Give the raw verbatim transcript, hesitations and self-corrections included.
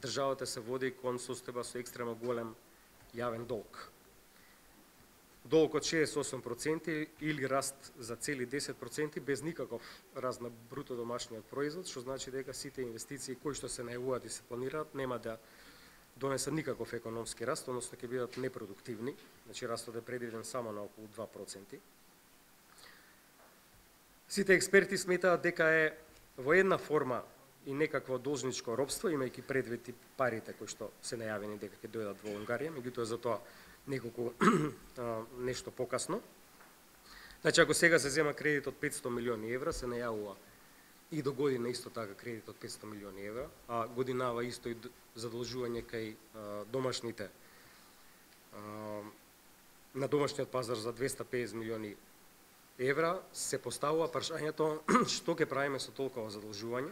државата се води кон состојба со екстремно голем јавен долг. Долг од шеесет и осум проценти или раст за цели десет проценти без никаков раст на бруто домашниот производ, што значи дека сите инвестиции кои што се најавуваат и се планираат нема да донесат никаков економски раст, односно ќе бидат непродуктивни, значи растот е предвиден само на околу два проценти. Сите експерти сметаат дека е во една форма и некакво должничко робство, имајќи предвид и парите кои што се најавени дека ќе дојдат во Унгарија, меѓутоа за тоа неколку нешто покасно. Значи, ако сега се зема кредит од петстотини милиони евра, се најавува и до година исто така кредит од петстотини милиони евра, а годинава исто и задолжување кај домашните на домашниот пазар за двеста и педесет милиони евра, се поставува прашањето што ќе правиме со толкова задолжување.